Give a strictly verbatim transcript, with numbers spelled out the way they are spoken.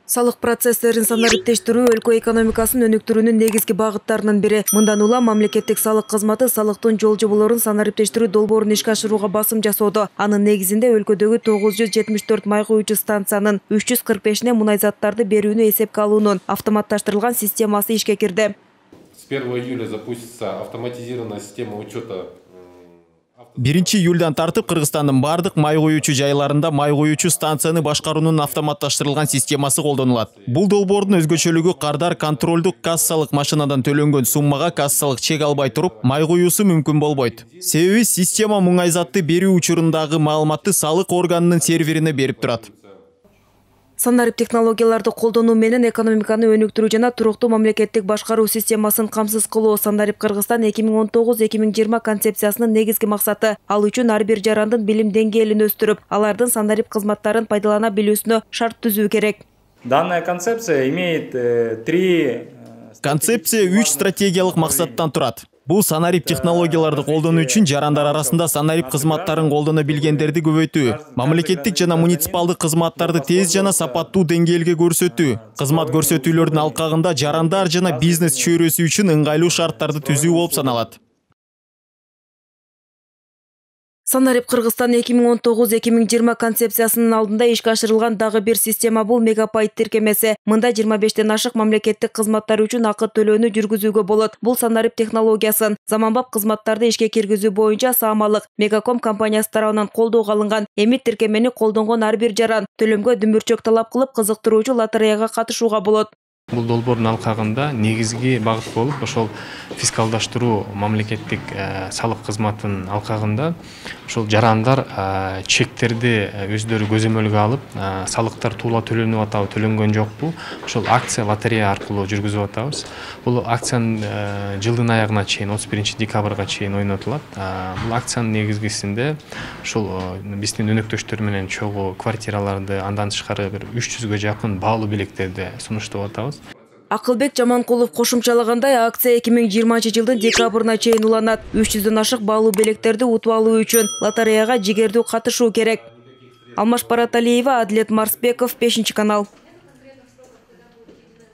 Салык процесстерин санариптештирүү өлкө экономикасын өнүктүрүүнүн негизги багыттарынын бири. Мындан улам мамлекеттик салык кызматы салыктын жол жоболорун санариптештирүү долбоорун ишке ашырууга басым жасоодо. Анын негизинде өлкөдөгү тогуз жүз жетимиш төрт май куюучу станциянын үч жүз кырк бешине мунай заттарды берүүнү эсепке алуунун автоматташтырылган системасы ишке кирди. С первого июля запустится автоматизированная система учета. биринчи июлдан тартып Кыргызстандын бардык май куюучу жайларында май куюучу станцияны башкаруунун автоматташтырылган системасы колдонулат. Бул долбоордун өзгөчөлүгү кардар контролдук кассалык машинадан төлөнгөн суммага кассалык чек албай туруп май куюусу мүмкүн болбойт. Себеби система муңай затты берүү учурундагы маалыматты салык органынын серверине берип турат. Санарип технологияларды колдонуу менен экономиканы өнүктүрүү жана туруктуу мамлекеттик башкаруу системасын камсыз кылуу Санарип Кыргызстан эки миң он тогуз эки миң жыйырма концепциясынын негизги максаты. Ал үчүн ар бир жарандын билим деңгээлин өстүрүп, алардын санарип кызматтарын пайдалана билүүсүнө шарт түзүү керек. Данная концепция имеет три Концепция үч стратегиялык максаттан турат. Бул санарип технологияларды колдонуу үчүн жарандар арасында санарип кызматтарын колдоно билгендерди көбөйтүү, мамлекеттик жана муниципалдык кызматтарды тез жана сапаттуу деңгээлге көрсөтүү, кызмат көрсөтүүлөрдүн алкагында жарандар жана бизнес чөйрөсү үчүн ыңгайлуу шарттарды түзүү болуп саналат. Санарип Кыргызстан эки миң он тогуз эки миң жыйырма концепциясынын алдында ишке ашырылган дагы бир система бул мегапайт тиркемеси. Мында жыйырма бештен ашык мамлекеттик кызматтар үчүн акы төлөөнү жүргүзүүгө болот. Бул санарип технологиясын заманбап кызматтарды ишке киргизүү боюнча Самалык Мегаком компаниясы тарабынан колдоого алынган. Эми тиркемени колдонгон ар бир жаран төлөмгө дүмүрчөк талап кылып кызыктыруучу лотереяга катышууга болот. Бул долбоордун алкагында негизги багыт болуп, ошол фискалдаштыруу мамлекеттик салык кызматынын алкагында ошол жарандар чектерди өздөрү көзөмөлгө алып, салыктар туула төлөнүп атабы, төлөнгөн жокпу, ошол акция лотерея аркылуу жүргүзүп атабыз. Бул акциянын жылдын аягына чейин, отуз биринчи декабрга чейин ойнотулат. Бул акциянын негизгисинде ошол биздин өнөктөштөр менен чогуу квартираларды, андан тышкары бир үч жүзгө жакын баалуу билектерди сунуштап атабыз. Акылбек Жаманкулов кошумчалагандай, акция эки миң жыйырманчы жылдын декабрына чейин уланат. үч жүздөн ашык баалуу билектерди утуп алуу үчүн лотереяга жигердүү катышуу керек. Алмаш Бараталиева, Адилет Марсбеков, бешинчи канал.